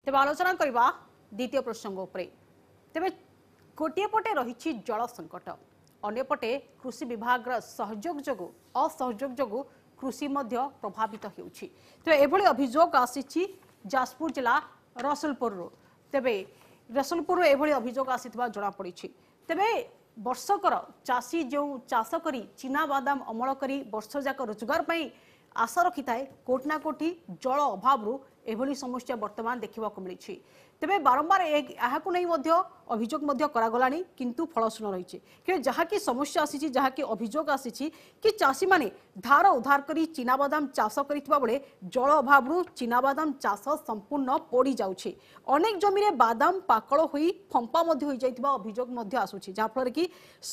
ତେବେ ଆଲୋଚନା କରିବା ଦ୍ୱିତୀୟ ପ୍ରସଙ୍ଗ ଉପରେ। ତେବେ ଗୋଟିଏ ପଟେ ରହିଛି ଜଳ ସଙ୍କଟ, ଅନ୍ୟପଟେ କୃଷି ବିଭାଗର ସହଯୋଗ ଯୋଗୁଁ ଅସହଯୋଗ ଯୋଗୁଁ କୃଷି ମଧ୍ୟ ପ୍ରଭାବିତ ହେଉଛି। ତେବେ ଏଭଳି ଅଭିଯୋଗ ଆସିଛି ଯାଜପୁର ଜିଲ୍ଲା ରସୁଲପୁରରୁ। ତେବେ ରସୁଲପୁରରୁ ଏଭଳି ଅଭିଯୋଗ ଆସିଥିବା ଜଣାପଡ଼ିଛି। ତେବେ ବର୍ଷକର ଚାଷୀ ଯେଉଁ ଚାଷ କରି ଚିନାବାଦାମ ଅମଳ କରି ବର୍ଷ ଯାକ ରୋଜଗାର ପାଇଁ ଆଶା ରଖିଥାଏ, କୋଉଠି ନା କୋଉଠି ଜଳ ଅଭାବରୁ ଏଭଳି ସମସ୍ୟା ବର୍ତ୍ତମାନ ଦେଖିବାକୁ ମିଳିଛି। ତେବେ ବାରମ୍ବାର ଏହାକୁ ନେଇ ମଧ୍ୟ ଅଭିଯୋଗ ମଧ୍ୟ କରାଗଲାଣି, କିନ୍ତୁ ଫଳଶୂନ୍ୟ ରହିଛି। କିନ୍ତୁ ଯାହାକି ସମସ୍ୟା ଆସିଛି, ଯାହାକି ଅଭିଯୋଗ ଆସିଛି କି ଚାଷୀମାନେ ଧାର ଉଧାର କରି ଚିନାବାଦାମ ଚାଷ କରିଥିବା ବେଳେ ଜଳ ଅଭାବରୁ ଚିନାବାଦାମ ଚାଷ ସମ୍ପୂର୍ଣ୍ଣ ପୋଡ଼ି ଯାଉଛି। ଅନେକ ଜମିରେ ବାଦାମ ପାକଳ ହୋଇ ଫମ୍ପା ମଧ୍ୟ ହୋଇଯାଇଥିବା ଅଭିଯୋଗ ମଧ୍ୟ ଆସୁଛି, ଯାହାଫଳରେ କି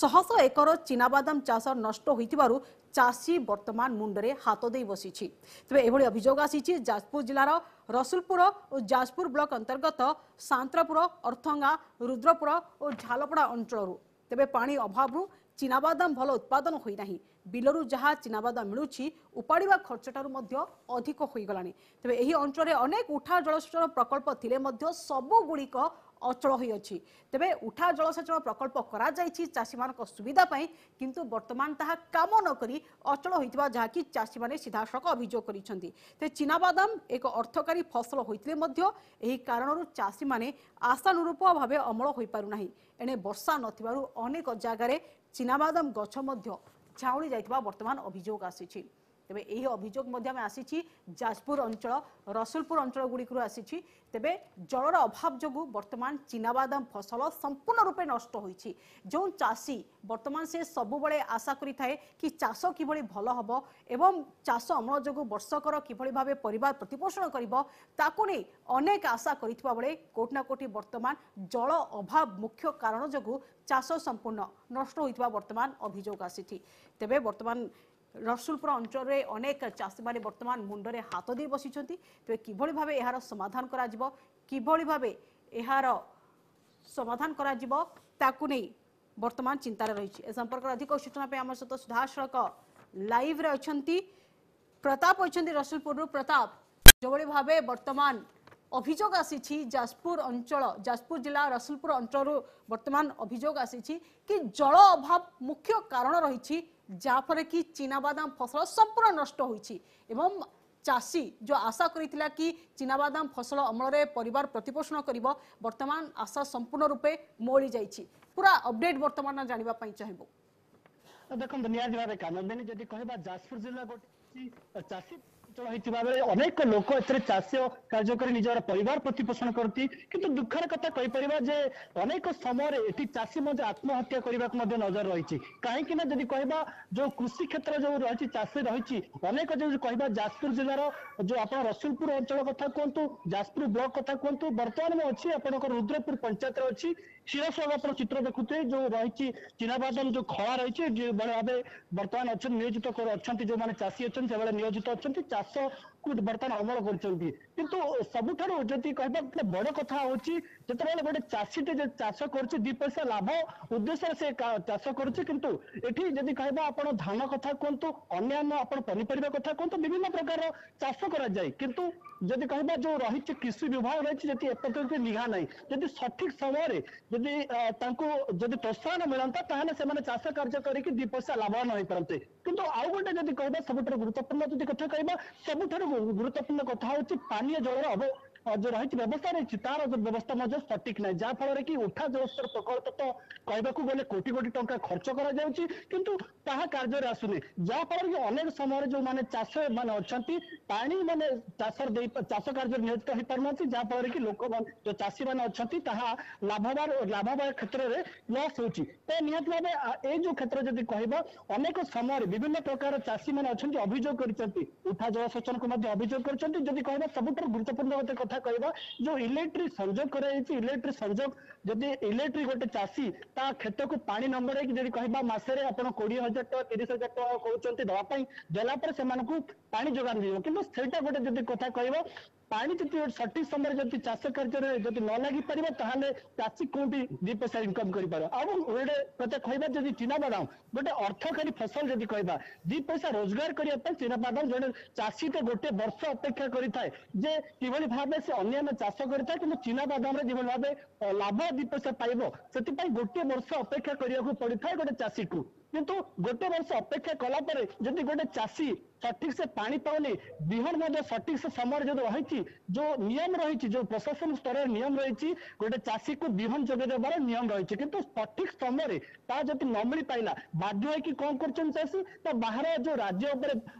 ଶହ ଶହ ଏକର ଚିନାବାଦାମ ଚାଷ ନଷ୍ଟ ହୋଇଥିବାରୁ ଚାଷୀ ବର୍ତ୍ତମାନ ମୁଣ୍ଡରେ ହାତ ଦେଇ ବସିଛି। ତେବେ ଏଭଳି ଅଭିଯୋଗ ଆସିଛି ଯାଜପୁର ଜିଲ୍ଲାର ରସୁଲପୁର ଓ ଯାଜପୁର ବ୍ଲକ ଅନ୍ତର୍ଗତ ସାନ୍ତ୍ରପୁର, ଅର୍ଥଙ୍ଗା, ରୁଦ୍ରପୁର ଓ ଝାଲପଡ଼ା ଅଞ୍ଚଳରୁ। ତେବେ ପାଣି ଅଭାବରୁ ଚିନାବାଦାମ ଭଲ ଉତ୍ପାଦନ ହୋଇନାହିଁ। ବିଲରୁ ଯାହା ଚିନାବାଦାମ ମିଳୁଛି ଉପାଡ଼ିବା ଖର୍ଚ୍ଚଠାରୁ ମଧ୍ୟ ଅଧିକ ହୋଇଗଲାଣି। ତେବେ ଏହି ଅଞ୍ଚଳରେ ଅନେକ ଉଠା ଜଳସେଚନ ପ୍ରକଳ୍ପ ଥିଲେ ମଧ୍ୟ ସବୁଗୁଡ଼ିକ ଅଚଳ ହୋଇଅଛି। ତେବେ ଉଠା ଜଳସେଚନ ପ୍ରକଳ୍ପ କରାଯାଇଛି ଚାଷୀମାନଙ୍କ ସୁବିଧା ପାଇଁ, କିନ୍ତୁ ବର୍ତ୍ତମାନ ତାହା କାମ ନ କରି ଅଚଳ ହୋଇଥିବା ଯାହାକି ଚାଷୀମାନେ ସିଧାସଳଖ ଅଭିଯୋଗ କରିଛନ୍ତି। ତେବେ ଚିନାବାଦାମ ଏକ ଅର୍ଥକାରୀ ଫସଲ ହୋଇଥିଲେ ମଧ୍ୟ ଏହି କାରଣରୁ ଚାଷୀମାନେ ଆଶାନୁରୂପ ଭାବେ ଅମଳ ହୋଇପାରୁନାହିଁ। ଏଣେ ବର୍ଷା ନଥିବାରୁ ଅନେକ ଜାଗାରେ ଚିନାବାଦାମ ଗଛ ମଧ୍ୟ ଝାଉଁଳି ଯାଇଥିବା ବର୍ତ୍ତମାନ ଅଭିଯୋଗ ଆସିଛି। ତେବେ ଏହି ଅଭିଯୋଗ ମଧ୍ୟ ଆମେ ଆସିଛି ଯାଜପୁର ଅଞ୍ଚଳ ରସୁଲପୁର ଅଞ୍ଚଳ ଗୁଡ଼ିକରୁ ଆସିଛି। ତେବେ ଜଳର ଅଭାବ ଯୋଗୁଁ ବର୍ତ୍ତମାନ ଚିନାବାଦାମ ଫସଲ ସମ୍ପୂର୍ଣ୍ଣ ରୂପେ ନଷ୍ଟ ହୋଇଛି। ଯେଉଁ ଚାଷୀ ବର୍ତ୍ତମାନ ସେ ସବୁବେଳେ ଆଶା କରିଥାଏ କି ଚାଷ କିଭଳି ଭଲ ହେବ ଏବଂ ଚାଷ ଅମଳ ଯୋଗୁଁ ବର୍ଷକର କିଭଳି ଭାବେ ପରିବାର ପ୍ରତିପୋଷଣ କରିବ, ତାକୁ ନେଇ ଅନେକ ଆଶା କରିଥିବା ବେଳେ କୋଉଠି ନା କୋଉଠି ବର୍ତ୍ତମାନ ଜଳ ଅଭାବ ମୁଖ୍ୟ କାରଣ ଯୋଗୁଁ ଚାଷ ସମ୍ପୂର୍ଣ୍ଣ ନଷ୍ଟ ହୋଇଥିବା ବର୍ତ୍ତମାନ ଅଭିଯୋଗ ଆସିଛି। ତେବେ ବର୍ତ୍ତମାନ ରସୁଲପୁର ଅଞ୍ଚଳରେ ଅନେକ ଚାଷୀମାନେ ବର୍ତ୍ତମାନ ମୁଣ୍ଡରେ ହାତ ଦେଇ ବସିଛନ୍ତି। ତେବେ କିଭଳି ଭାବେ ଏହାର ସମାଧାନ କରାଯିବ, କିଭଳି ଭାବେ ଏହାର ସମାଧାନ କରାଯିବ ତାକୁ ନେଇ ବର୍ତ୍ତମାନ ଚିନ୍ତାରେ ରହିଛି। ଏ ସମ୍ପର୍କରେ ଅଧିକ ସୂଚନା ପାଇଁ ଆମ ସହିତ ସିଧାସଳଖ ଲାଇଭ୍ରେ ଅଛନ୍ତି ପ୍ରତାପ ଅଛନ୍ତି ରସୁଲପୁରରୁ। ପ୍ରତାପ, ଯେଭଳି ଭାବେ ବର୍ତ୍ତମାନ ଅଭିଯୋଗ ଆସିଛି ଯାଜପୁର ଅଞ୍ଚଳ ଯାଜପୁର ଜିଲ୍ଲା ରସୁଲପୁର ଅଞ୍ଚଳରୁ ବର୍ତ୍ତମାନ ଅଭିଯୋଗ ଆସିଛି କି ଜଳ ଅଭାବ ମୁଖ୍ୟ କାରଣ ରହିଛି, ଯାହାଫଳରେ କି ଚିନାବାଦାମ ଫସଲ ସମ୍ପୂର୍ଣ୍ଣ ନଷ୍ଟ ହୋଇଛି ଏବଂ ଚାଷୀ ଯେଉଁ ଆଶା କରିଥିଲା କି ଚିନାବାଦାମ ଫସଲ ଅମଳରେ ପରିବାର ପ୍ରତିପୋଷଣ କରିବ, ବର୍ତ୍ତମାନ ଆଶା ସମ୍ପୂର୍ଣ୍ଣ ରୂପେ ମଉଳି ଯାଇଛି। ପୁରା ଅପଡେଟ୍ ବର୍ତ୍ତମାନ ଜାଣିବା ପାଇଁ ଚାହିଁବୁ। ଦେଖନ୍ତୁ, ନିହାତି ଭାବେ କାନନ୍ଦିନୀ, ଯଦି କହିବା ଯାଜପୁର ଜିଲ୍ଲା ଗୋଟେ ଚାଷୀ ଅଞ୍ଚଳ ହେଇଥିବା ବେଳେ ଅନେକ ଲୋକ ଏଥିରେ ଚାଷ କାର୍ଯ୍ୟ କରି ନିଜର ପରିବାର ପ୍ରତିପୋଷଣ କରନ୍ତି। କିନ୍ତୁ ଦୁଃଖର କଥା କହିପାରିବା ଯେ ଅନେକ ସମୟରେ ଏଠି ଚାଷୀ ମଧ୍ୟ ଆତ୍ମହତ୍ୟା କରିବାକୁ ମଧ୍ୟ ନଜର ରହିଛି। କାହିଁକି ନା ଯଦି କହିବା ଯୋଉ କୃଷି କ୍ଷେତ୍ର ଯୋଉ ରହିଛି, ଚାଷୀ ରହିଛି ଅନେକ, ଯୋଉ କହିବା ଯାଜପୁର ଜିଲ୍ଲାର ଯୋଉ ଆପଣ ରସୁଲପୁର ଅଞ୍ଚଳ କଥା କୁହନ୍ତୁ, ଯାଜପୁର ବ୍ଲକ କଥା କୁହନ୍ତୁ, ବର୍ତ୍ତମାନ ମୁଁ ଅଛି ଆପଣଙ୍କର ରୁଦ୍ରପୁର ପଞ୍ଚାୟତରେ ଅଛି। ସିଧାସଳଖ ଆପଣ ଚିତ୍ର ଦେଖୁଥିବେ ଯୋଉ ରହିଛି ଚିନାବାଦାମ ଯୋଉ ଖଳା ରହିଛି, ଯେଉଁଭଳି ଭାବେ ବର୍ତ୍ତମାନ ଅଛନ୍ତି ନିୟୋଜିତ ଅଛନ୍ତି ଯୋଉମାନେ ଚାଷୀ ଅଛନ୍ତି ସେମାନେ ନିୟୋଜିତ ଅଛନ୍ତି, ଚାଷକୁ ବର୍ତ୍ତମାନ ଅମଳ କରୁଛନ୍ତି। କିନ୍ତୁ ସବୁଠାରୁ ଯଦି କହିବା ଗୋଟେ ବଡ କଥା ହଉଛି, ଯେତେବେଳେ ଗୋଟେ ଚାଷୀଟେ ଚାଷ କରୁଛି ଦି ପଇସା ଲାଭ ଉଦ୍ଦେଶ୍ୟରେ ସେ ଚାଷ କରୁଛି। କିନ୍ତୁ ଏଠି ଯଦି କହିବା ଆପଣ ଧାନ କଥା କୁହନ୍ତୁ, ଅନ୍ୟାନ୍ୟ ଆପଣ ପନିପରିବା କଥା କୁହନ୍ତୁ, ବିଭିନ୍ନ ପ୍ରକାରର ଚାଷ କରାଯାଏ। କିନ୍ତୁ ଯଦି କହିବା ଯୋଉ ରହିଛି କୃଷି ବିଭାଗ ରହିଛି, ଯଦି ଏପର୍ଯ୍ୟନ୍ତ ନିଘା ନାହିଁ, ଯଦି ସଠିକ ସମୟରେ ଯଦି ତାଙ୍କୁ ଯଦି ପ୍ରୋତ୍ସାହନ ମିଳନ୍ତା ତାହେଲେ ସେମାନେ ଚାଷ କାର୍ଯ୍ୟ କରିକି ଦି ପଇସା ଲାଭବାନ ହେଇପାରନ୍ତେ। କିନ୍ତୁ ଆଉ ଗୋଟେ ଯଦି କହିବା ସବୁଠାରୁ ଗୁରୁତ୍ୱପୂର୍ଣ୍ଣ ଯଦି କଥା କହିବା, ସବୁଠାରୁ ଗୁରୁତ୍ୱପୂର୍ଣ୍ଣ କଥା ହଉଛି ପାନୀୟ ଜଳର ଯୋଉ ରହିଛି ବ୍ୟବସ୍ଥା ରହିଛି ତାର ବ୍ୟବସ୍ଥା ମଧ୍ୟ ସଠିକ ନାହିଁ, ଯାହା ଫଳରେ କି ଉଠା ଜଳସେଚନ ପ୍ରକଳ୍ପ ତ କହିବାକୁ ଗଲେ କୋଟି କୋଟି ଟଙ୍କା ଖର୍ଚ୍ଚ କରାଯାଉଛି କିନ୍ତୁ ତାହା କାର୍ଯ୍ୟରେ ଆସୁନି। ଯାହା ଫଳରେ କି ଅନେକ ସମୟରେ ଯୋଉମାନେ ଚାଷ ମାନେ ଅଛନ୍ତି ପାଣି ମାନେ ଚାଷରେ ଦେଇ ଚାଷ କାର୍ଯ୍ୟରେ ନିୟୋଜିତ ହେଇପାରୁନାହାନ୍ତି, ଯାହା ଫଳରେ କି ଲୋକମାନେ ଯୋଉ ଚାଷୀ ମାନେ ଅଛନ୍ତି ତାହା ଲାଭବାନ କ୍ଷେତ୍ରରେ ଲସ୍ ହଉଛି। ତ ନିହାତି ଭାବେ ଏଇ ଯୋଉ କ୍ଷେତ୍ର ଯଦି କହିବା ଅନେକ ସମୟରେ ବିଭିନ୍ନ ପ୍ରକାର ଚାଷୀ ମାନେ ଅଛନ୍ତି ଅଭିଯୋଗ କରିଛନ୍ତି, ଉଠା ଜଳସେଚନକୁ ମଧ୍ୟ ଅଭିଯୋଗ କରିଛନ୍ତି। ଯଦି କହିବା ସବୁଠାରୁ ଗୁରୁତ୍ୱପୂର୍ଣ୍ଣ ଗୋଟେ କଥା କହିବା ଯୋଉ ଇଲେକ୍ଟ୍ରିକ ସଂଯୋଗ କରାଯାଇଛି, ଇଲେକ୍ଟ୍ରିକ ସଂଯୋଗ ଯଦି ଇଲେକ୍ଟ୍ରିକ ଗୋଟେ ଚାଷୀ ତା କ୍ଷେତକୁ ପାଣି ନ ମଡେଇକି ଯଦି କହିବା ମାସରେ ଆପଣ 20,000 ଟଙ୍କା 30,000 ଟଙ୍କା କହୁଛନ୍ତି ଦବା ପାଇଁ, ଦେଲା ପରେ ସେମାନଙ୍କୁ ପାଣି ଯୋଗାଣ ଦିଆଯିବ। କିନ୍ତୁ ସେଇଟା ଗୋଟେ ଯଦି କଥା କହିବା ପାଣି ଯଦି ସଠିକ ସମୟରେ ଯଦି ଚାଷ କାର୍ଯ୍ୟରେ ଯଦି ନ ଲାଗି ପାରିବ, ତାହେଲେ ଚାଷୀ କୋଉଠି ଦି ପଇସା ଇନକମ କରିପାରିବ? ଆଉ ଗୋଟେ କଥା କହିବା, ଯଦି ଚିନାବାଦାମ ଗୋଟେ ଅର୍ଥକାରୀ ଫସଲ ଯଦି କହିବା, ଦି ପଇସା ରୋଜଗାର କରିବା ପାଇଁ ଚିନାବାଦାମ ଜଣେ ଚାଷୀ ତ ଗୋଟେ ବର୍ଷ ଅପେକ୍ଷା କରିଥାଏ ଯେ କିଭଳି ଭାବେ ସେ ଅନ୍ୟାନ୍ୟ ଚାଷ କରିଥାଏ, କିନ୍ତୁ ଚିନାବାଦାମରେ ଯେଭଳି ଭାବେ ଲାଭ ଦି ପଇସା ପାଇବ, ସେଥିପାଇଁ ଗୋଟିଏ ବର୍ଷ ଅପେକ୍ଷା କରିବାକୁ ପଡିଥାଏ ଗୋଟେ ଚାଷୀକୁ। କିନ୍ତୁ ଗୋଟେ ବର୍ଷ ଅପେକ୍ଷା କଲା ପରେ ଯଦି ଗୋଟେ ଚାଷୀ ସଠିକ ସେ ପାଣି ପାଉନି, ବିହନ ମଧ୍ୟ ସଠିକ ସେ ସମୟରେ ଯଦି ରହିଛି, ଯୋଉ ନିୟମ ରହିଛି, ଯୋଉ ପ୍ରଶାସନ ସ୍ତରରେ ନିୟମ ରହିଛି, ଗୋଟେ ଚାଷୀକୁ ବିହନ ଯୋଗାଇ ଦେବାର ନିୟମ ରହିଛି, କିନ୍ତୁ ସଠିକ ସମୟରେ ତା ଯଦି ନ ମିଳି ପାଇଲା, ବାଧ୍ୟ ହେଇକି କଣ କରୁଛନ୍ତି ଚାଷୀ ତ ବାହାର ଯୋଉ ରାଜ୍ୟ ଉପରେ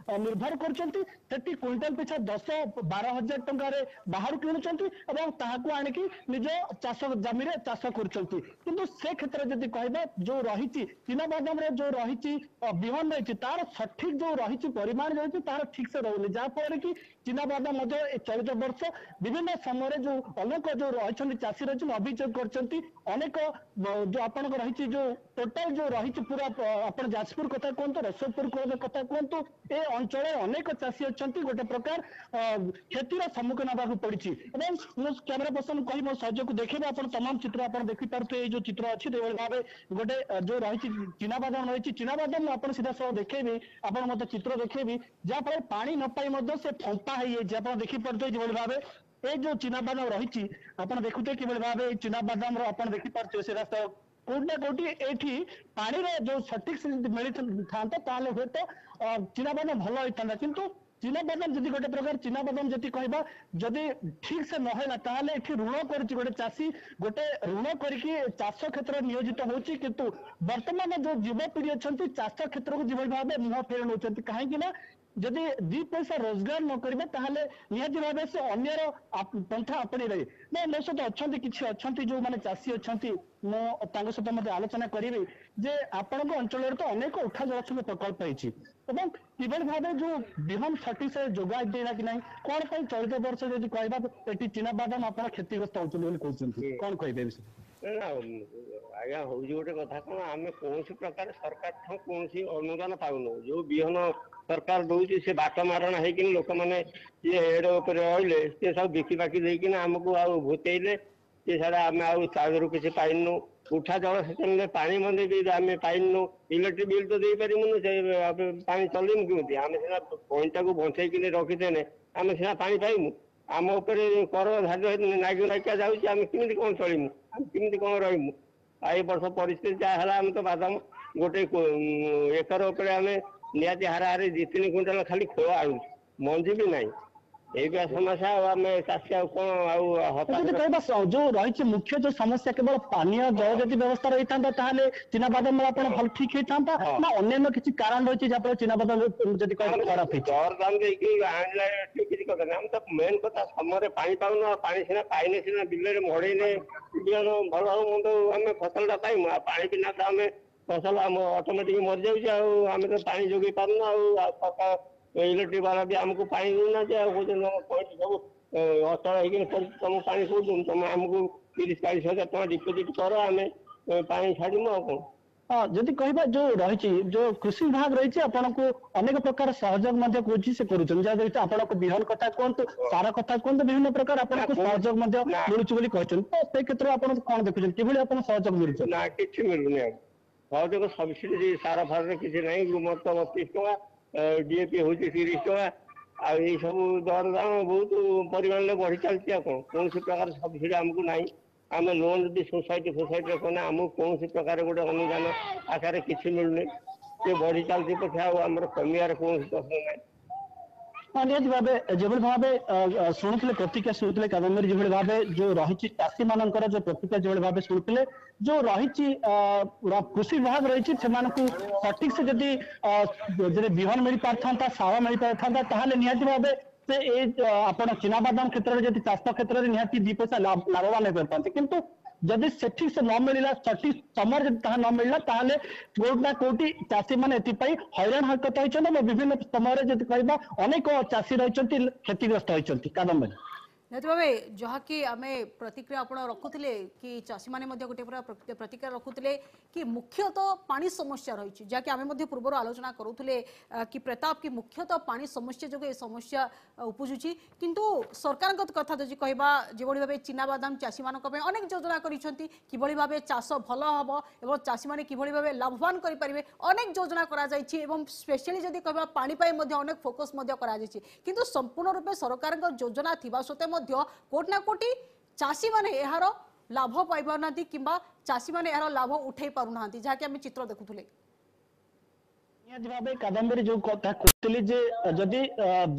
ନିର୍ଭର କରୁଛନ୍ତି। ସେଠି କୁଇଣ୍ଟାଲ ପିଛା 10-12 ହଜାର ଟଙ୍କାରେ ବାହାରୁ କିଣୁଛନ୍ତି ଏବଂ ତାହାକୁ ଆଣିକି ନିଜ ଚାଷ ଜମିରେ ଚାଷ କରୁଛନ୍ତି। କିନ୍ତୁ ସେ କ୍ଷେତ୍ରରେ ଯଦି କହିବା, ଯୋଉ ରହିଛି ଚିନାବାଦାମରେ ଯୋଉ ରହିଛି ବିହନ ରହିଛି, ତାର ସଠିକ ଯୋଉ ରହିଛି ପରିମାଣ ରହିଛି, ତାର ଠିକ ସେ ରହୁନି, ଯାହା ଫଳରେ କି ଚିନାବାଦାମ ମଧ୍ୟ ଏ ଚଳିତ ବର୍ଷ ବିଭିନ୍ନ ସମୟରେ ଯୋଉ ଅନେକ ଯୋଉ ରହିଛନ୍ତି ଚାଷୀ ରହିଛନ୍ତି, ଅଭିଯୋଗ କରିଛନ୍ତି। ଅନେକ ଯୋଉ ଆପଣଙ୍କ ରହିଛି, ଯୋଉ ଟୋଟାଲ ଯୋଉ ରହିଛି ପୁରା, ଆପଣ ଯାଜପୁର କଥା କୁହନ୍ତୁ, ରସଲପୁର କଥା କୁହନ୍ତୁ, ଏ ଅଞ୍ଚଳରେ ଅନେକ ଚାଷୀ ଅଛନ୍ତି, ଗୋଟେ ପ୍ରକାର କ୍ଷତିର ସମ୍ମୁଖୀନ ହେବାକୁ ପଡିଛି। ଏବଂ ମୁଁ କ୍ୟାମେରା ପର୍ସନ କହି ମୋ ସହଯୋଗକୁ ଦେଖେଇବେ, ଆପଣ ତମାମ ଚିତ୍ର ଆପଣ ଦେଖିପାରୁଥିବେ। ଏଇ ଯୋଉ ଚିତ୍ର ଅଛି, ଯେଭଳି ଭାବେ ଗୋଟେ ଯୋଉ ରହିଛି ଚିନାବାଦାମ ରହିଛି, ଚିନାବାଦାମ ମୁଁ ଆପଣ ସିଧାସଳଖ ଦେଖେଇବି, ଆପଣ ମତେ ଚିତ୍ର ଦେଖେଇବି, ଯାହାଫଳରେ ପାଣି ନ ପାଇ ମଧ୍ୟ ସେ ଫମ୍ପା ହେଇଯାଇଛି। ଆପଣ ଦେଖିପାରୁଥିବେ ଯେଭଳି ଭାବେ ଏଇ ଯୋଉ ଚିନାବାଦାମ ରହିଛି, ଆପଣ ଦେଖୁଥିବେ କିଭଳି ଭାବେ ଏଇ ଚିନାବାଦାମର ଆପଣ ଦେଖିପାରୁଥିବେ ସେ ରାସ୍ତା କୋଉଠି ନା କୋଉଠି ଏଇଠି ପାଣିର ଯୋଉ ସଠିକ ମିଳିଥାନ୍ତା, ତାହେଲେ ହୁଏତ ଚିନାବାଦାମ ଭଲ ହେଇଥାନ୍ତା। କିନ୍ତୁ ଚିନାବାଦାମ ଯଦି ଗୋଟେ ପ୍ରକାର ଚିନାବାଦାମ ଯଦି କହିବା, ଯଦି ଠିକ ସେ ନହେଲା, ତାହେଲେ ଏଠି ଋଣ କରୁଛି ଗୋଟେ ଚାଷୀ, ଗୋଟେ ଋଣ କରିକି ଚାଷ କ୍ଷେତ୍ରରେ ନିୟୋଜିତ ହଉଛି। କିନ୍ତୁ ବର୍ତ୍ତମାନ ଯୋଉ ଯୁବପିଢି ଅଛନ୍ତି, ଚାଷ କ୍ଷେତ୍ରକୁ ଯେଭଳି ଭାବେ ମୁହଁ ଫେରି ନଉଛନ୍ତି, କାହିଁକି ନା ଯଦି ଦି ପଇସା ରୋଜଗାର ନ କରିବେ, ତାହେଲେ ନିହାତି ଭାବେ ସେ ଅନ୍ୟର ପନ୍ଥା ଆପଣେଇବେ। ନା, ମୋ ସହିତ ଅଛନ୍ତି କିଛି ଅଛନ୍ତି ଯୋଉମାନେ ଚାଷୀ ଅଛନ୍ତି, ମୁଁ ତାଙ୍କ ସହିତ ମଧ୍ୟ ଆଲୋଚନା କରିବି ଯେ ଆପଣଙ୍କ ଅଞ୍ଚଳରେ ତ ଅନେକ ଉଠା ଜଳସେଚନ ପ୍ରକଳ୍ପ ହେଇଛି ଏବଂ କିଭଳି ଭାବେ ଯୋଉ ବିହନ ସଠିକ ସେ ଯୋଗାଇ ଦେଲା କି ନାହିଁ, କଣ ପାଇଁ ଚଳିତ ବର୍ଷ ଯଦି କହିବା ଏଠି ଚିନାବାଦାମ ଆପଣ କ୍ଷତିଗ୍ରସ୍ତ ହଉଛନ୍ତି ବୋଲି କହୁଛନ୍ତି, କଣ କହିବେ ଏ ବିଷୟରେ? ନା ଆଜ୍ଞା, ହଉଛି ଗୋଟେ କଥା କଣ, ଆମେ କୌଣସି ପ୍ରକାର ସରକାର ଠୁ କୌଣସି ଅନୁଦାନ ପାଉନୁ। ଯୋଉ ବିହନ ସରକାର ଦଉଛି, ସେ ବାଟ ମାରଣା ହେଇକିନି ଲୋକମାନେ ସିଏ ହେଡ ଉପରେ ରହିଲେ, ସିଏ ସବୁ ବିକି ବାକି ଦେଇକିନା ଆମକୁ ଆଉ ଭୂତେଇଲେ ସେ ସାରା। ଆମେ ଆଉ ତା ଦେହରୁ କିଛି ପାଇନୁ। ଉଠା ଜଳସେଚନରେ ପାଣି ମଧ୍ୟ ବି ଆମେ ପାଇନୁ। ଇଲେକ୍ଟ୍ରିକ ବିଲ୍ ତ ଦେଇପାରିବୁନୁ, ସେ ପାଣି ଚଲେଇବୁ କେମିତି? ଆମେ ସିନା ପଏଣ୍ଟଟାକୁ ବଞ୍ଚେଇକିନି ରଖିଦେନେ ଆମେ ସିନା ପାଣି ପାଇମୁ। ଆମ ଉପରେ କର ଧାର୍ଯ୍ୟ ନାଗି ନାଗିକା ଯାଉଛି। ଆମେ କେମିତି କଣ ଚଳିମୁ? ଆମେ କେମିତି କଣ ରହିମୁ? ଆଉ ଏ ବର୍ଷ ପରିସ୍ଥିତି ଯାହା ହେଲା, ଆମେ ତ ବାଦାମ ଗୋଟେ ଏକର ଉପରେ ଆମେ ନିହାତି ହାରାହାରି 2-3 କୁଇଣ୍ଟାଲ ଖାଲି ଖୋଳ ଆଣୁଛୁ, ମଞ୍ଜି ବି ନାହିଁ। ଏଇଟା ସମସ୍ୟା। ଆଉ ଆମେ ଚାଷୀ ଆଉ କଣ ଆଉ ହତାଶ। ଯଦି କହିବା ଯୋଉ ରହିଛି ମୁଖ୍ୟ ଯୋଉ ସମସ୍ୟା, କେବଳ ପାନୀୟ ଜଳ ଯଦି ବ୍ୟବସ୍ଥା ରହିଥାନ୍ତା, ତାହେଲେ ଚିନାବାଦାମ ଆପଣ ଭଲ ଠିକ ହେଇଥାନ୍ତା, ନା ଅନ୍ୟାନ୍ୟ କିଛି କାରଣ ରହିଛି ଯାହାଫଳରେ ଚିନାବାଦାମ ଯଦି କହିବା ଖରାପ ହେଇଛି? ଦରଦାମ ଦେଇକି ଆଣିଲା କିଛି କଥା ନାହିଁ। ଆମେ ତ ମେନ୍ କଥା ସମୟରେ ପାଣି ପାଉନୁ। ଆଉ ପାଣି ସିନା ପାଇନେ ସିନା ବିଲରେ ମଡେଇନେ ବିହନ ଭଲ ହଉ ମନ୍ଦ ଆମେ ଫସଲଟା ପାଇମୁ। ଆଉ ପାଣି ବିନା ତ ଆମେ ଫସଲ ଆମ ଅଟୋମେଟିକ ମରିଯାଉଛି। ଆଉ ଆମେ ତ ପାଣି ଯୋଗେଇ ପାରୁନୁ। ଆଉ ସରକାର ଇଲେକ୍ଟ୍ରିକ ବାଲା ବି ଆମକୁ ପାଣି ଦଉନାହାନ୍ତି। ଆଉ କହୁଛନ୍ତି ତମ ପଏଣ୍ଟ ସବୁ ଅଚଳ ହେଇକି ପଡିଛି, ତମକୁ ପାଣି କୋଉଠୁ? ତମେ ଆମକୁ 30-40 ହଜାର ଟଙ୍କା ଡିପୋଜିଟ୍ କର, ଆମେ ପାଣି ଛାଡ଼ିମୁ, ଆଉ କଣ। ହଁ, ଯଦି କହିବା ଯୋଉ ରହିଛି ଯୋଉ କୃଷି ବିଭାଗ ରହିଛି, ଆପଣଙ୍କୁ ଅନେକ ପ୍ରକାର ସହଯୋଗ ମଧ୍ୟ କରୁଛି, ସେ କରୁଛନ୍ତି, ଯାହା ଆପଣଙ୍କୁ ବିହନ କଥା କୁହନ୍ତୁ, ସାର କଥା କୁହନ୍ତୁ, ବିଭିନ୍ନ ପ୍ରକାର ଆପଣଙ୍କୁ ସହଯୋଗ ମଧ୍ୟ ମିଳୁଛି ବୋଲି କହିଛନ୍ତି। ତ ସେ କ୍ଷେତ୍ରରେ ଆପଣ କଣ ଦେଖୁଛନ୍ତି, କିଭଳି ଆପଣ ସହଯୋଗ ମିଳୁଛି? ନା, କିଛି ମିଳୁନି ଆଉ ସହଯୋଗ। ସବସିଡି ସାର ଫାରରେ କିଛି ନାହିଁ। ଗ୍ରୁମର ତ 32 ଟଙ୍କା, ଡିଏପି ହଉଛି 30 ଟଙ୍କା। ଆଉ ଏଇ ସବୁ ଦରଦାମ ବହୁତ ପରିମାଣରେ ବଢି ଚାଲିଛି। ଆଉ କଣ, କୌଣସି ପ୍ରକାର ସବସିଡି ଆମକୁ ନାହିଁ। ଆମେ ଲୋନ୍ ଯଦି ସୋସାଇଟି ଫୋସାଇଟିରେ କଲେ ଆମକୁ କୌଣସି ପ୍ରକାର ଗୋଟେ ଅନୁଦାନ ଆକାରରେ କିଛି ମିଳୁନି। ସେ ବଢି ଚାଲିଛି ପଛେ, ଆଉ ଆମର କମିବାର କୌଣସି ପ୍ରଶ୍ନ ନାହିଁ। ହଁ, ନିହାତି ଭାବେ ଯେଭଳି ଭାବେ ଶୁଣୁଥିଲେ ପ୍ରତିକ୍ରିୟା ଶୁଣୁଥିଲେ କାଦମ୍ବରୀ, ଯେଭଳି ଭାବେ ଯୋଉ ରହିଛି ଚାଷୀ ମାନଙ୍କର ଯୋଉ ପ୍ରତିକ୍ରିୟା ଯେଭଳି ଭାବେ ଶୁଣୁଥିଲେ, ଯୋଉ ରହିଛି କୃଷି ବିଭାଗ ରହିଛି, ସେମାନଙ୍କୁ ସଠିକ ସେ ଯଦି ବିହନ ମିଳିପାରିଥାନ୍ତା, ସାର ମିଳିପାରିଥାନ୍ତା, ତାହେଲେ ନିହାତି ଭାବେ ସେ ଏଇ ଆପଣ ଚିନାବାଦାମ କ୍ଷେତ୍ରରେ ଯଦି ଚାଷ କ୍ଷେତ୍ରରେ ନିହାତି ଦି ପଇସା ଲାଭବାନ ହେଇପାରିଥାନ୍ତେ। କିନ୍ତୁ ଯଦି ସେଠି ସେ ନ ମିଳିଲା, ସଠିକ ସମୟରେ ଯଦି ତାହା ନ ମିଳିଲା, ତାହେଲେ କୋଉଠି ନା କୋଉଠି ଚାଷୀ ମାନେ ଏଥିପାଇଁ ହଇରାଣ ହରକତ ହେଇଛନ୍ତି ଏବଂ ବିଭିନ୍ନ ସମୟରେ ଯଦି କହିବା ଅନେକ ଚାଷୀ ରହିଛନ୍ତି କ୍ଷତିଗ୍ରସ୍ତ ହେଇଛନ୍ତି। କାଦମ୍ବରୀ। ନିହାତି ଭାବେ ଯାହାକି ଆମେ ପ୍ରତିକ୍ରିୟା ଆପଣ ରଖୁଥିଲେ କି ଚାଷୀମାନେ ମଧ୍ୟ ଗୋଟିଏ ପୁରା ପ୍ରତିକ୍ରିୟା ରଖୁଥିଲେ କି ମୁଖ୍ୟତଃ ପାଣି ସମସ୍ୟା ରହିଛି, ଯାହାକି ଆମେ ମଧ୍ୟ ପୂର୍ବରୁ ଆଲୋଚନା କରୁଥିଲେ କି ପ୍ରତାପ କି ମୁଖ୍ୟତଃ ପାଣି ସମସ୍ୟା ଯୋଗୁଁ ଏ ସମସ୍ୟା ଉପୁଜୁଛି। କିନ୍ତୁ ସରକାରଙ୍କ କଥା ଯଦି କହିବା, ଯେଭଳି ଭାବେ ଚିନାବାଦାମ ଚାଷୀମାନଙ୍କ ପାଇଁ ଅନେକ ଯୋଜନା କରିଛନ୍ତି, କିଭଳି ଭାବେ ଚାଷ ଭଲ ହେବ ଏବଂ ଚାଷୀମାନେ କିଭଳି ଭାବେ ଲାଭବାନ କରିପାରିବେ ଅନେକ ଯୋଜନା କରାଯାଇଛି, ଏବଂ ସ୍ପେଶାଲି ଯଦି କହିବା ପାଣି ପାଇଁ ମଧ୍ୟ ଅନେକ ଫୋକସ୍ ମଧ୍ୟ କରାଯାଇଛି। କିନ୍ତୁ ସମ୍ପୂର୍ଣ୍ଣ ରୂପେ ସରକାରଙ୍କ ଯୋଜନା ଥିବା ସତ୍ତ୍ୱେ ମଧ୍ୟ କୋଉଠି ନା କୋଉଠି ଚାଷୀମାନେ ଏହାର ଲାଭ ପାଇପାରୁନାହାନ୍ତି କିମ୍ବା ଚାଷୀମାନେ ଏହାର ଲାଭ ଉଠାଇ ପାରୁନାହାନ୍ତି, ଯାହାକି ଆମେ ଚିତ୍ର ଦେଖୁଥିଲେ। ନିହାତି ଭାବେ କାଦମ୍ବରୀ, ଯୋଉ କଥା କହୁଥିଲି ଯେ ଯଦି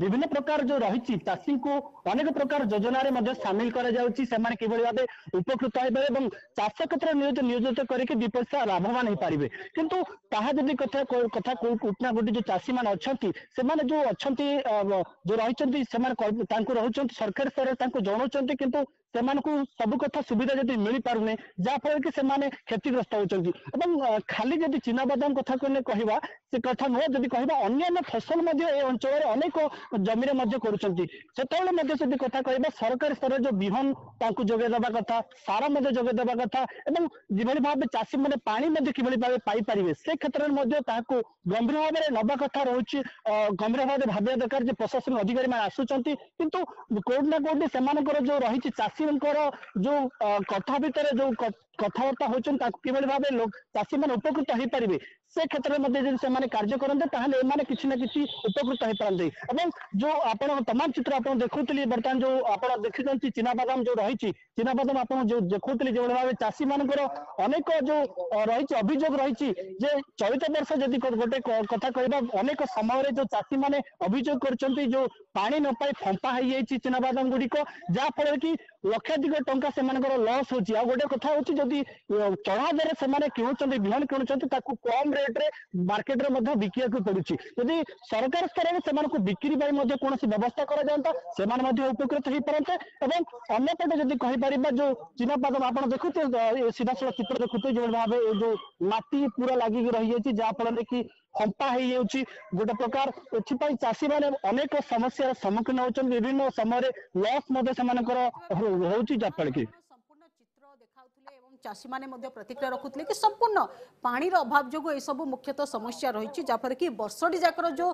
ବିଭିନ୍ନ ପ୍ରକାର ଯୋଉ ରହିଛି, ଚାଷୀଙ୍କୁ ଅନେକ ପ୍ରକାର ଯୋଜନାରେ ମଧ୍ୟ ସାମିଲ କରାଯାଉଛି, ସେମାନେ କିଭଳି ଭାବେ ଉପକୃତ ହେବେ ଏବଂ ଚାଷ କ୍ଷେତ୍ରରେ ନିୟୋଜିତ କରିକି ଦି ପଇସା ଲାଭବାନ ହେଇପାରିବେ। କିନ୍ତୁ ତାହା ଯଦି କଥା କୋଉଠି ନା କୋଉଠି ଯୋଉ ଚାଷୀ ମାନେ ଅଛନ୍ତି, ସେମାନେ ଯୋଉ ଅଛନ୍ତି, ଯୋଉ ରହିଛନ୍ତି, ସେମାନେ ତାଙ୍କୁ ରହୁଛନ୍ତି ସରକାରୀ ସ୍ତରରେ ତାଙ୍କୁ ଜଣାଉଛନ୍ତି, କିନ୍ତୁ ସେମାନଙ୍କୁ ସବୁ କଥା ସୁବିଧା ଯଦି ମିଳିପାରୁନି, ଯାହା ଫଳରେ କି ସେମାନେ କ୍ଷତିଗ୍ରସ୍ତ ହଉଛନ୍ତି। ଏବଂ ଖାଲି ଯଦି ଚିନାବାଦାମ କଥା କହିବା ସେ କଥା ନୁହେଁ, ଯଦି କହିବା ଅନ୍ୟାନ୍ୟ ଫସଲ ମଧ୍ୟ ଏ ଅଞ୍ଚଳରେ ଅନେକ ଜମିରେ ମଧ୍ୟ କରୁଛନ୍ତି। ସେତେବେଳେ ମଧ୍ୟ ଯଦି କଥା କହିବା, ସରକାରୀ ସ୍ତରରେ ଯୋଉ ବିହନ ତାଙ୍କୁ ଯୋଗାଇ ଦେବା କଥା, ସାର ମଧ୍ୟ ଯୋଗାଇ ଦେବା କଥା, ଏବଂ ଯେଭଳି ଭାବେ ଚାଷୀ ମାନେ ପାଣି ମଧ୍ୟ କିଭଳି ଭାବେ ପାଇପାରିବେ ସେ କ୍ଷେତ୍ରରେ ମଧ୍ୟ ତାହାକୁ ଗମ୍ଭୀର ଭାବରେ ନବା କଥା ରହୁଛି। ଗମ୍ଭୀର ଭାବରେ ଭାବିବା ଦରକାର ଯେ ପ୍ରଶାସନ ଅଧିକାରୀ ମାନେ ଆସୁଛନ୍ତି, କିନ୍ତୁ କୋଉଠି ନା କୋଉଠି ସେମାନଙ୍କର ଯୋଉ ରହିଛି ଚାଷୀଙ୍କର ଯୋଉ କଥା ଭିତରେ ଯୋଉ କଥାବାର୍ତ୍ତା ହଉଛନ୍ତି, ତାକୁ କିଭଳି ଭାବେ ଚାଷୀ ମାନେ ଉପକୃତ ହେଇପାରିବେ ସେ କ୍ଷେତ୍ରରେ ମଧ୍ୟ ଯଦି ସେମାନେ କାର୍ଯ୍ୟ କରନ୍ତେ, ତାହେଲେ ଏମାନେ କିଛି ନା କିଛି ଉପକୃତ ହେଇପାରନ୍ତେ। ଏବଂ ଯୋଉ ଆପଣ ତମାମ ଚିତ୍ର ଆପଣ ଦେଖୁଥିଲି, ବର୍ତ୍ତମାନ ଯୋଉ ଆପଣ ଦେଖିଛନ୍ତି ଚିନାବାଦାମ ଯୋଉ ରହିଛି, ଚିନାବାଦାମ ଆପଣ ଯୋଉ ଦେଖୁଥିଲି, ଯେଭଳି ଭାବେ ଚାଷୀ ମାନଙ୍କର ଅନେକ ଯୋଉ ରହିଛି ଅଭିଯୋଗ ରହିଛି ଯେ ଚଳିତ ବର୍ଷ ଯଦି ଗୋଟେ କଥା କହିବା, ଅନେକ ସମୟରେ ଯୋଉ ଚାଷୀ ମାନେ ଅଭିଯୋଗ କରିଛନ୍ତି, ଯୋଉ ପାଣି ନ ପାଇ ଫମ୍ପା ହେଇଯାଇଛି ଚିନାବାଦାମ ଗୁଡିକ, ଯାହା ଫଳରେ କି ଲକ୍ଷାଧିକ ଟଙ୍କା ସେମାନଙ୍କର ଲସ୍ ହଉଛି। ଆଉ ଗୋଟେ କଥା ହଉଛି, ଯଦି ଚଢା ଦରରେ ସେମାନେ କିଣୁଛନ୍ତି, ବିହନ କିଣୁଛନ୍ତି, ତାକୁ କମ ରେଟରେ ମାର୍କେଟରେ ମଧ୍ୟ ବିକିବାକୁ ପଡୁଛି। ଯଦି ସରକାର ସ୍ତରରେ ସେମାନଙ୍କୁ ବିକ୍ରି ପାଇଁ ମଧ୍ୟ କୌଣସି ବ୍ୟବସ୍ଥା କରାଯାଆନ୍ତା, ସେମାନେ ମଧ୍ୟ ଉପକୃତ ହେଇପାରନ୍ତେ। ଏବଂ ଅନ୍ୟପଟେ ଯଦି କହିପାରିବା, ଯୋଉ ଚିନାବାଦାମ ଆପଣ ଦେଖୁଥିବେ, ସିଧାସଳଖ ଚିତ୍ର ଦେଖୁଥିବେ, ଯେଭଳି ଭାବେ ଏ ଯୋଉ ମାଟି ପୁରା ଲାଗିକି ରହିଯାଇଛି, ଯାହା ଫଳରେ କି ଫମ୍ପା ହେଇଯାଉଛି ଗୋଟେ ପ୍ରକାର। ଏଥିପାଇଁ ଚାଷୀ ମାନେ ଅନେକ ସମସ୍ୟାର ସମ୍ମୁଖୀନ ହଉଛନ୍ତି, ବିଭିନ୍ନ ସମୟରେ ଲସ୍ ମଧ୍ୟ ସେମାନଙ୍କର ହଉଛି, ଯାହାଫଳରେ କି ସମ୍ପୂର୍ଣ୍ଣ ଚିତ୍ର ଦେଖାଉଥିଲେ ଏବଂ ଚାଷୀମାନେ ମଧ୍ୟ ପ୍ରତିକ୍ରିୟା ରଖୁଥିଲେ କି ସମ୍ପୂର୍ଣ୍ଣ ପାଣିର ଅଭାବ ଯୋଗୁଁ ଏସବୁ ମୁଖ୍ୟତଃ ସମସ୍ୟା ରହିଛି, ଯାହାଫଳରେ କି ବର୍ଷଟି ଯାକର ଯୋଉ